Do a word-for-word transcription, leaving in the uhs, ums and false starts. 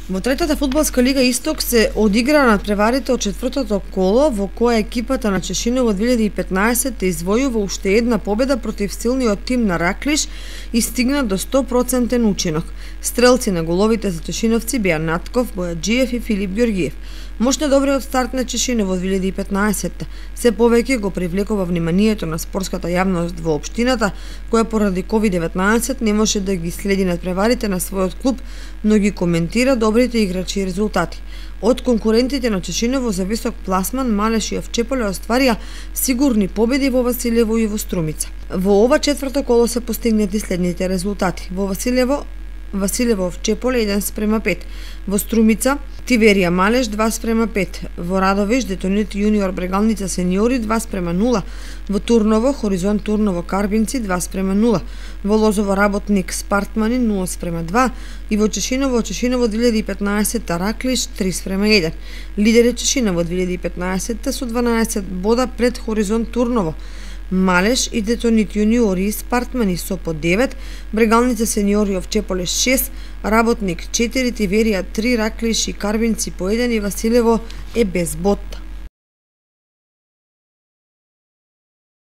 Во третата фудбалска лига Исток се одигра надпреварите од четвртото коло, во која екипата на Чешинов во две илјади и петнаесетте извојува уште една победа против силниот тим на Раклиш и стигна до сто проценти учинок. Стрелци на головите за чешиновци беа Натков, Бојаджиев и Филип Ѓоргиев. Мощно добриот старт на Чешинов во две илјади и петнаесетте се повеќе го привлекува вниманието на спортската јавност во општината, која поради ковид деветнаесет не може да ги следи надпреварите на својот клуб, но ги коментира добрите играчи и резултати. Од конкурентите на Чешиново за висок пласман, Малеш и Овчеполе остварија сигурни победи во Василево и во Струмица. Во ова четврто коло се постигнати следните резултати. Во Василево Василево Овчеполе еден спрема пет, во Струмица Тиверија Малеш два спрема пет, во Радовиш Детонит јуниор Брегалница сениори два спрема нула, во Турново Хоризонт Турново Карбинци два спрема нула, во Лозово Работник Спартмани нула спрема два и во Чешиново Чешиново две илјади и петнаесетте Раклиш три спрема еден. Лидер е Чешиново две илјади и петнаесетте со дванаесет бода пред Хоризонт Турново. Малеш и Детонит јуниори и Спартмани со по девет, Брегалница сениори Овчеполе шест, Работник четири, Тиверија три, Раклиш и Карбинци по еден и Василево е без бод.